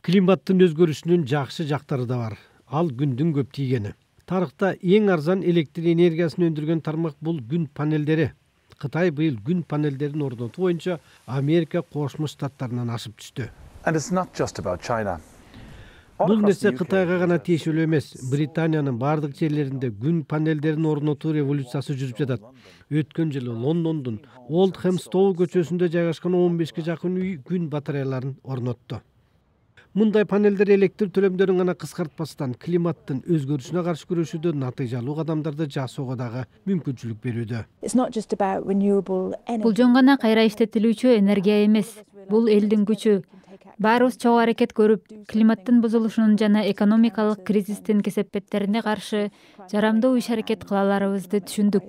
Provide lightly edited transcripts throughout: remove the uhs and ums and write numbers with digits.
Климаттын өзгөрүшүнүн жакшы жактары да бар. Ал күндүн көп тийгени. Тарыхта эң арзан электр энергиясын өндүргөн тармак бул күн панелдери. Кытай быйыл күн панелдерин орнотуу боюнча Америка Кошмо Штаттарынан ашып түштү. Бул нерсе Кытайга гана тиешелүү эмес. Британиянын бардык жерлеринде күн панелдерин орнотуу революциясы жүрүп жатат. Өткөн жылы Лондондун Олдхэмстоу көчөсүндө жайгашкан 15ге жакын үй күн батареяларын орнотту. Мындай панелдер электр төлөмдөрүн гана кыскартпастан климаттын өзгөрүшүнө каршы күрөшүүдө натыйжалуу кадамдарды жасоого дагы мүмкүнчүлүк берүүдө. Бул жөн гана кайра иштетилүүчү энергия эмес. Бул элдин күчү. Баарыбыз чогуу аракет көрүп, климаттын бузулушунун жана экономикалык кризистин кесепеттерине каршы жарамдуу иш-аракет кыла аларыбызды түшүндүк.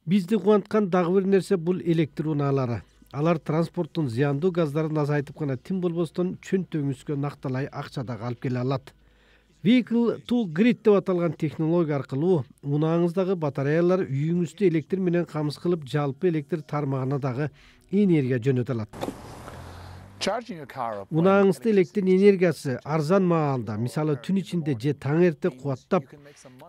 Бизди кубанткан дагы бир нерсе бул электр унаалары. Алар транспорттун зыяндуу газдарын азайтып гана тим болбостон чөнтөгүңүзгө накталай акча дагы алып келе алат. Vehicle to Grid деп аталган технология аркылуу унааңыздагы батареялар үйүңүздү электр менен камсыз кылып, жалпы электр тармагына дагы энергия жөнөтө алат. Унааңызды электр энергиясы арзан маалда, мисалы түн ичинде же таң эрте кубаттап,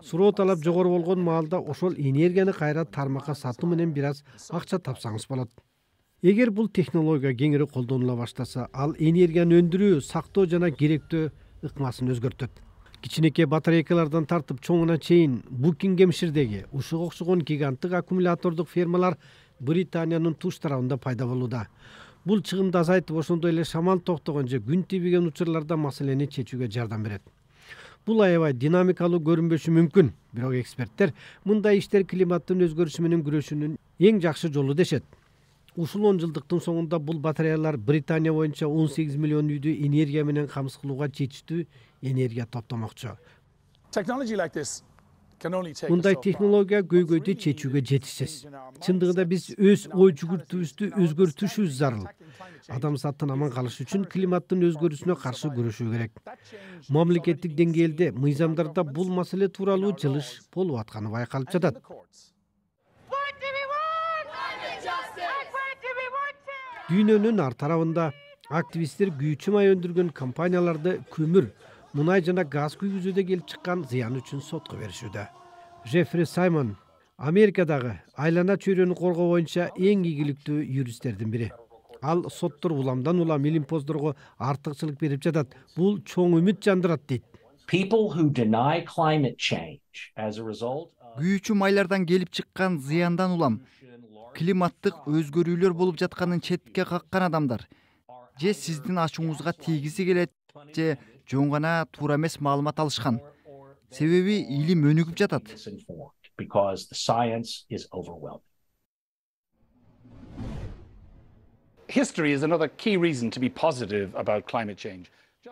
суроо талап жогору болгон маалда ошол энергияны кайра тармакка сатуу менен бир аз акча тапсаңыз болот. Эгер бул технология кеңири колдонула баштаса, ал энергияны өндүрүү, сактоо жана керектөө ыкмасын өзгөртөт. Кичинекей батарейкалардан тартып чоңуна чейин Букингемширдеги ушуга окшогон гиганттык аккумулятордук фермалар Британиянын туш тарабында пайда болууда. Бул чыгымды азайтып, ошондой эле шамал токтогон же күн тийбеген учурларда маселени чечүүгө жардам берет. Бул аябай динамикалуу көрүнбөшү мүмкүн, бирок эксперттер мындай иштер климаттын өзгөрүшү менен күрөшүүнүн эң жакшы жолу дешет. Ушул 10 жылдыктын соңунда бул батареялар Британия боюнча 18 миллион үйдү энергия менен камсыз кылууга жетиштүү энергия топтомокчу. Мындай технология көйгөйдү чечүүгө жетишсиз. Чындыгында биз өз ой жүгүртүүбүздү өзгөртүшүбүз зарыл. Адамзаттын аман калышы үчүн климаттын өзгөрүүсүнө каршы күрөшүү керек. Мамлекеттик деңгээлде мыйзамдарда бул маселе тууралуу жылыш болуп атканы байкалып жатат. Дүйнөнүн ар тарабында активисттер күйүүчү май өндүргөн компанияларды көмүр, мунай жана газ күйгүзүүдө келип чыккан зыян үчүн сотко беришүүдө. Джеффри Саймон Америкадагы айлана чөйрөнү коргоо боюнча эң ийгиликтүү юристтердин бири. Ал соттор уламдан улам илимпоздорго артыкчылык берип жатат. Бул чоң үмүт жандырат дейт. Күйүүчү майлардан келип чыккан зыяндан улам климаттык өзгөрүүлөр болуп жатканын четке каккан адамдар же сиздин ачууңузга тийгизи келет же жөн гана туура эмес маалымат алышкан. Себеби илим өнүгүп жатат.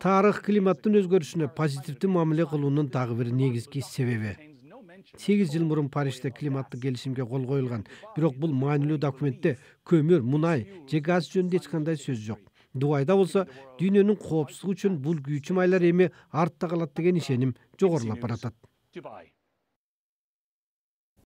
Тарых климаттын өзгөрүшүнө позитивдүү мамиле кылуунун дагы бир негизги себеби. 8 жыл мурун Парижде климаттык келишимге кол коюлган, бирок бул маанилүү документте көмүр, мунай же газ жөнүндө эч кандай сөз жок. Дубайда болсо дүйнөнүн коопсуздугу үчүн бул күйүүчү майлар эми артта калат деген ишеним жогорулап баратат.